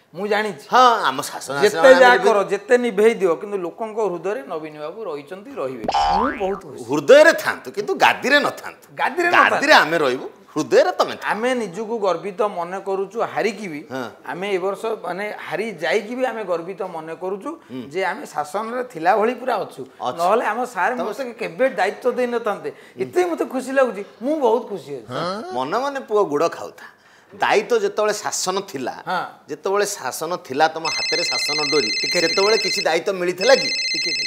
ମୁଁ ଜାଣିଛି। ହଁ, ଆମ ଶାସନ ଯେତେ ଯାହା କର, ଯେତେ ନିଭେଇ ଦିଅ, କିନ୍ତୁ ଲୋକଙ୍କ ହୃଦୟରେ ନବୀନ ବାବୁ ରହିଛନ୍ତି, ରହିବେ। ମୁଁ ବହୁତ ଖୁସି। ହୃଦୟରେ ଥାନ୍ତୁ କିନ୍ତୁ ଗାଦିରେ ନଥାନ୍ତୁ। ଗାଦିରେ? ଗାଦିରେ ଆମେ ରହିବୁ, ହୃଦୟରେ ତମେ। ଆମେ ନିଜକୁ ଗର୍ବିତ ମନେ କରୁଛୁ ହାରିକି ବି। ଆମେ ଏ ବର୍ଷ ମାନେ ହାରି ଯାଇକି ବି ଆମେ ଗର୍ବିତ ମନେ କରୁଛୁ ଯେ ଆମେ ଶାସନରେ ଥିଲା ଭଳି ପୁରା ଅଛୁ। ନହେଲେ ଆମ ସାର୍ ମୋତେ କେବେ ଦାୟିତ୍ୱ ଦେଇନଥାନ୍ତେ। ଏତେ ମୋତେ ଖୁସି ଲାଗୁଛି, ମୁଁ ବହୁତ ଖୁସି ଅଛି। ମନେ ମନେ ପୁଅ ଗୁଡ଼ ଖାଉଥା। ଦାୟିତ୍ୱ ଯେତେବେଳେ ଶାସନ ଥିଲା, ଯେତେବେଳେ ଶାସନ ଥିଲା ତମ ହାତରେ ଶାସନ ଡୋରି, ସେତେବେଳେ କିଛି ଦାୟିତ୍ୱ ମିଳିଥିଲା କି?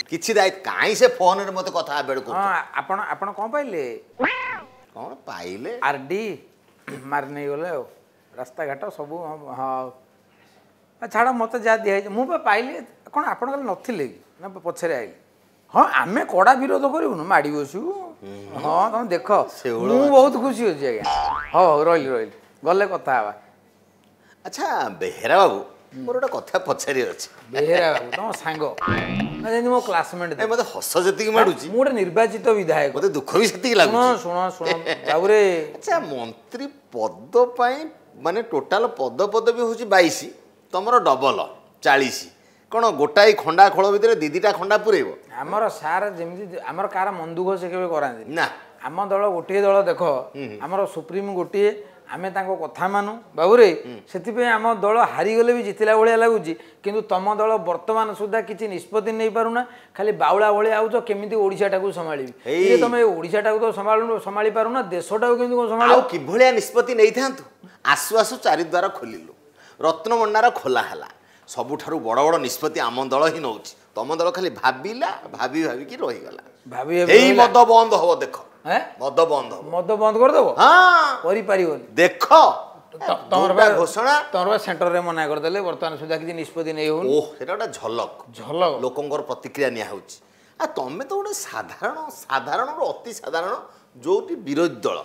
କିଛି ଦାୟିତ୍ୱ କାହିଁ? ସେ ଫୋନରେ ମୋତେ କଥା ହେବେଳକୁ ଆପଣ କ'ଣ ପାଇଲେ? କ'ଣ ପାଇଲେ? ଆର୍ ଡି ମାରି ନେଇଗଲେ ଆଉ ରାସ୍ତାଘାଟ ସବୁ। ହଁ, ଛାଡ଼, ମୋତେ ଯାହା ଦିଆହେଇଛି ମୁଁ ବା ପାଇଲି। କ'ଣ ଆପଣ କାଲି ନଥିଲେ କି ନା ପଛରେ ଆଇଲେ? ହଁ, ଆମେ କଡ଼ା ବିରୋଧ କରିବୁନୁ, ମାଡ଼ି ବସିବୁ। ହଁ, ତମେ ଦେଖ, ମୁଁ ବହୁତ ଖୁସି ଅଛି ଆଜ୍ଞା। ହଉ ହଉ, ରହିଲି ରହିଲି, ଗଲେ କଥା ହେବା। ଆଚ୍ଛା ବେହେରା ବାବୁ, ମୋର ଗୋଟେ କଥା ପଚାରି ଅଛି। ବେହେରା ବାବୁ ତମ ସାଙ୍ଗ ନା ଯେମିତି ମୋ କ୍ଲାସମେଟ୍? ମତେ ହସ ଯେତିକି ମାଡୁଛି। ମୁଁ ଗୋଟେ ନିର୍ବାଚିତ ବିଧାୟକ, ମତେ ଦୁଃଖ ବି ସେତିକି ଲାଗୁଛି। ଶୁଣ ଶୁଣ ବାବୁରେ। ଆଚ୍ଛା, ମନ୍ତ୍ରୀ ପଦ ପାଇଁ ମାନେ ଟୋଟାଲ ପଦ ପଦବୀ ହେଉଛି 22, ତମର ଡବଲ 40। କ'ଣ ଗୋଟାଏ ଖଣ୍ଡା ଖୋଳ ଭିତରେ ଦି ଦିଟା ଖଣ୍ଡା ପୁରେଇବ? ଆମର ସାର୍ ଯେମିତି ଆମର କାହାର ମନ ଦୁଃଖ ସେ କେବେ କରାନ୍ତିନି ନା। ଆମ ଦଳ ଗୋଟିଏ ଦଳ, ଦେଖ, ଆମର ସୁପ୍ରିମ ଗୋଟିଏ, ଆମେ ତାଙ୍କ କଥା ମାନୁ ବାବୁରେ। ସେଥିପାଇଁ ଆମ ଦଳ ହାରିଗଲେ ବି ଜିତିଲା ଭଳିଆ ଲାଗୁଛି। କିନ୍ତୁ ତମ ଦଳ ବର୍ତ୍ତମାନ ସୁଦ୍ଧା କିଛି ନିଷ୍ପତ୍ତି ନେଇପାରୁନା, ଖାଲି ବାଉଳା ଭଳିଆ ଆଉଛ, କେମିତି ଓଡ଼ିଶାଟାକୁ ସମ୍ଭାଳିବି। ତମେ ଓଡ଼ିଶାଟାକୁ ତ ସମ୍ଭାଳୁ ସମ୍ଭାଳି ପାରୁନା, ଦେଶଟାକୁ କେମିତି କ'ଣ ସମ୍ଭାଳିବ? ଆଉ କିଭଳିଆ ନିଷ୍ପତ୍ତି ନେଇଥାନ୍ତୁ? ଆସୁ ଆସୁ ଚାରିଦ୍ୱାର ଖୋଲିଲୁ, ରତ୍ନଭଣ୍ଡାର ଖୋଲା ହେଲା। ସବୁଠାରୁ ବଡ଼ ବଡ଼ ନିଷ୍ପତ୍ତି ଆମ ଦଳ ହିଁ ନେଉଛି। ତମ ଦଳ ଖାଲି ଭାବିଲା, ଭାବି ଭାବିକି ରହିଗଲା। ଭାବି ଏଇ ମଦ ବନ୍ଦ ହବ, ଦେଖ, ମଦ ବନ୍ଦ ହବ। ମଦ ବନ୍ଦ କରିଦେବ? ହଁ, କରିପାରିବନି। ଦେଖ ତମର ଘୋଷଣା, ତମର ସେଣ୍ଟରରେ ମନା କରିଦେଲେ, ବର୍ତ୍ତମାନ ସୁଦ୍ଧା କିଛି ନିଷ୍ପତ୍ତି ନେଇ ହଉନି। ଓହ, ସେଟା ଗୋଟେ ଝଲକ ଝଲକ, ଲୋକଙ୍କର ପ୍ରତିକ୍ରିୟା ନିଆ ହେଉଛି। ଆଉ ତମେ ତ ଗୋଟେ ସାଧାରଣ, ସାଧାରଣରୁ ଅତି ସାଧାରଣ, ଯୋଉଠି ବିରୋଧୀ ଦଳ।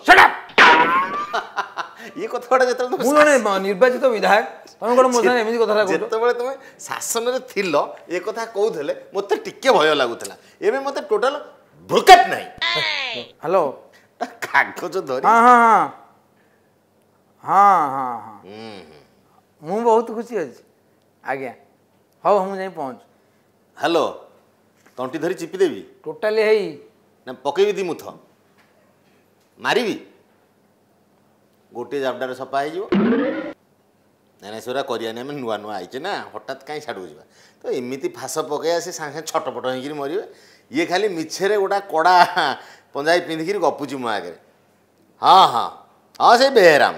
ଇଏ କଥା ଗୁଡ଼ା ଯେତେବେଳେ ମୁଁ ଜଣେ ନିର୍ବାଚିତ ବିଧାୟକ, ତମେ କ'ଣ ମୋ ସାଙ୍ଗରେ ଏମିତି କଥା? ଯେତେବେଳେ ତମେ ଶାସନରେ ଥିଲ ଏ କଥା କହୁଥିଲେ, ମୋତେ ଟିକେ ଭୟ ଲାଗୁଥିଲା। ଏବେ ମୋତେ ଟୋଟାଲ ଭ୍ରୁକେଟ ନାହିଁ। ହ୍ୟାଲୋ, କାଗଜ ଧରି। ହଁ ହଁ ହଁ ହଁ ହଁ ହଁ, ମୁଁ ବହୁତ ଖୁସି ଅଛି ଆଜ୍ଞା। ହଉ, ମୁଁ ଯାଇ ପହଞ୍ଚୁ। ହ୍ୟାଲୋ, ତଣ୍ଟି ଧରି ଚିପିଦେବି ଟୋଟାଲି ହେଇ ନା ପକେଇବି ଦି ମୁଥ ମାରିବି, ଗୋଟିଏ ଜାବଡ଼ାରେ ସଫା ହେଇଯିବ। ନାଇଁ ନାଇଁ, ସେଗୁଡ଼ା କରିବାନି, ଆମେ ନୂଆ ନୂଆ ଆଇଛେ ନା, ହଠାତ୍ କାହିଁ ଛାଡ଼କୁ ଯିବା ତ? ଏମିତି ଫାସ ପକେଇବା, ସେ ସାଙ୍ଗେ ସାଙ୍ଗେ ଛଟପଟ ହେଇକିରି ମରିବେ। ଇଏ ଖାଲି ମିଛରେ ଗୋଟା କଡ଼ା ପଞ୍ଜାବୀ ପିନ୍ଧିକିରି ଗପୁଛି ମୋ ଆଗରେ। ହଁ ହଁ ହଁ, ସେ ବେହେରା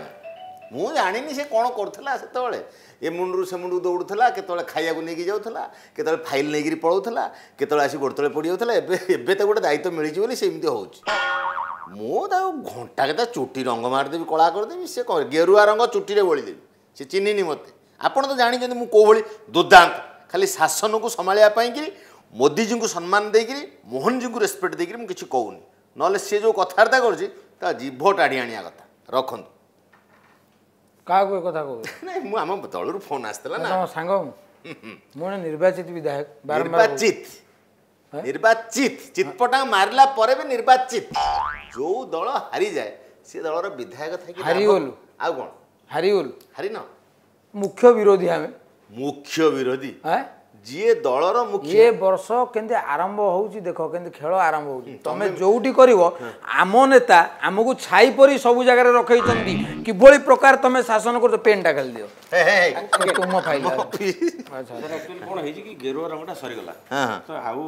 ମୁଁ ଜାଣିନି ସେ କ'ଣ କରୁଥିଲା ସେତେବେଳେ। ଏ ମୁଣ୍ଡରୁ ସେ ମୁଣ୍ଡକୁ ଦୌଡ଼ୁଥିଲା, କେତେବେଳେ ଖାଇବାକୁ ନେଇକି ଯାଉଥିଲା, କେତେବେଳେ ଫାଇଲ୍ ନେଇକିରି ପଳାଉଥିଲା, କେତେବେଳେ ଆସି ଗୋଡ଼ ତଳେ ପଡ଼ିଯାଉଥିଲା। ଏବେ ଏବେ ତାକୁ ଗୋଟେ ଦାୟିତ୍ୱ ମିଳିଛି ବୋଲି ସେ ଏମିତି ହେଉଛି। ମୁଁ ତାକୁ ଘଣ୍ଟା କେତେ ଚୁଟି ରଙ୍ଗ ମାରିଦେବି, କଳା କରିଦେବି, ସେ ଗେରୁଆ ରଙ୍ଗ ଚୁଟିରେ ବୋଳିଦେବି, ସେ ଚିହ୍ନିନି ମୋତେ। ଆପଣ ତ ଜାଣିଛନ୍ତି ମୁଁ କେଉଁ ଭଳି ଦୁର୍ଦ୍ଦାନ୍ତ। ଖାଲି ଶାସନକୁ ସମ୍ଭାଳିବା ପାଇଁକିରି ମୋଦିଜୀଙ୍କୁ ସମ୍ମାନ ଦେଇକିରି, ମୋହନଜୀଙ୍କୁ ରେସପେକ୍ଟ ଦେଇକିରି ମୁଁ କିଛି କହୁନି। ନହେଲେ ସିଏ ଯେଉଁ କଥାବାର୍ତ୍ତା କରୁଛି ତା ଜିଭ ଟାଣି ଆଣିବା କଥା। ରଖନ୍ତୁ। କାହାକୁ ଏ କଥା କହୁଛ? ନାଇଁ, ମୁଁ ଆମ ଦଳରୁ ଫୋନ୍ ଆସିଥିଲା ନା। ତମ ସାଙ୍ଗ ମୁଁ ଜଣେ ନିର୍ବାଚିତ ବିଧାୟକ। ନିର୍ବାଚିତ, ନିର୍ବାଚିତ, ଚିତପଟା ମାରିଲା ପରେ ବି ନିର୍ବାଚିତ। ଯୋଉ ଦଳ ହାରିଯାଏ ସେ ଦଳର ବିଧାୟକ ଥାଇକି ହାରିଗଲୁ। ଆଉ କ'ଣ ହାରିଗଲୁ? ହାରିନ, ମୁଖ୍ୟ ବିରୋଧୀ ଆମେ। ମୁଖ୍ୟ ବିରୋଧୀ ଯିଏ ଦଳର ମୁଖ୍ୟ। ଏ ବର୍ଷ କେମିତି ଆରମ୍ଭ ହଉଛି ଦେଖ, କେମିତି ଖେଳ ଆରମ୍ଭ ହଉଛି। ତମେ ଯୋଉଠି କରିବ, ଆମ ନେତା ଆମକୁ ଛାଇ ପରି ସବୁ ଜାଗାରେ ରଖେଇଛନ୍ତି। କିଭଳି ପ୍ରକାର ତମେ ଶାସନ କରୁଛ? ପେନ୍ଟା ଖାଲି ଦିଅ ତୁମ ଫାଇଲ। ଆଚ୍ଛା, କ'ଣ ହେଇଛି କି ଗେରୁଆ ରଙ୍ଗଟା ସରିଗଲା ତ ଆଉ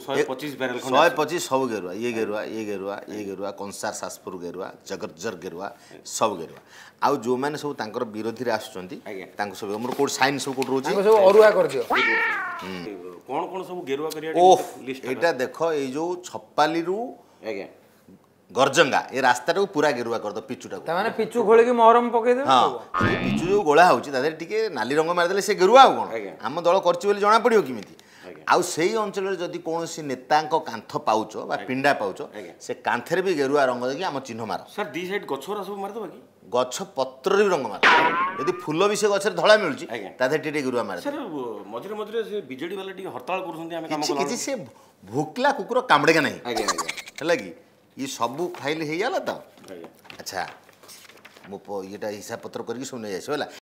125 ବ୍ୟାରେଲ? 125 ସବୁ ଗେରୁଆ। ଇଏ ଗେରୁଆ, ଇଏ ଗେରୁଆ, ଇଏ ଗେରୁଆ, କଂସାର ଶାସପୁର ଗେରୁଆ, ଜଗତଜର ଗେରୁଆ, ସବୁ ଗେରୁଆ। ଆଉ ଯେଉଁମାନେ ସବୁ ତାଙ୍କର ବିରୋଧୀରେ ଆସୁଛନ୍ତି ତାଙ୍କୁ ସବୁ ଆମର କୋଉଠି ସାଇନ୍ ସବୁ କୋଉଠି ରହୁଛି? ସବୁ ଅରୁଆ କରିଦିଅ। କ'ଣ କ'ଣ ସବୁ ଗେରୁଆ କରିବା? ଓହ, ଏଇଟା ଦେଖ, ଏଇ ଯୋଉ ଛପାଲିରୁ ଆଜ୍ଞା ଗର୍ଜଙ୍ଗା ଏ ରାସ୍ତାଟାକୁ ପୁରା ଗେରୁଆ କରିଦବ, ପିଚୁଟାକୁ। ତାମାନେ ପିଚୁ ଖୋଳିକି ମହରମ ପକେଇଦେବେ? ହଁ, ସେ ପିଚୁ ଯୋଉ ଗୋଳା ହଉଛି ତା ଦେହରେ ଟିକେ ନାଲି ରଙ୍ଗ ମାରିଦେଲେ ସେ ଗେରୁଆ। ଆଉ କ'ଣ ଆମ ଦଳ କରିଛି ବୋଲି ଜଣା ପଡ଼ିବ କେମିତି? ଆଉ ସେଇ ଅଞ୍ଚଳରେ ଯଦି କୌଣସି ନେତାଙ୍କ କାନ୍ଥ ପାଉଛ ବା ପିଣ୍ଡା ପାଉଛ, ସେ କାନ୍ଥରେ ବି ଗେରୁଆ ରଙ୍ଗ ଦେଇକି ଆମ ଚିହ୍ନ ମାର। ସାର୍, ଦି ସାଇଡ୍ ଗଛଗୁରା ସବୁ ମାରିଦେବା କି? ଗଛ ପତ୍ରରେ ବି ରଙ୍ଗ ମାର। ଯଦି ଫୁଲ ବି ସେ ଗଛରେ ଧଳା ମିଳୁଛି, ତା ଦେହରେ ଟିକେ ଗେରୁଆ ମାରେ। ସାର୍, ମଝିରେ ମଝିରେ ସେ ବିଜେଡି ବାଲା ଟିକେ ହରତାଳ କରୁଛନ୍ତି, ଆମେ କିଛି କିଛି ସେ ଭୋକିଲା କୁକୁର କାମୁଡ଼େକା ନାହିଁ। ହେଲା କି? ଇଏ ସବୁ ଫାଇଲ୍ ହେଇଗଲା ତ? ଆଚ୍ଛା, ମୁଁ ଇଏଟା ହିସାବ ପତ୍ର କରିକି ସବୁ ନେଇ ଆସିବ। ହେଲା,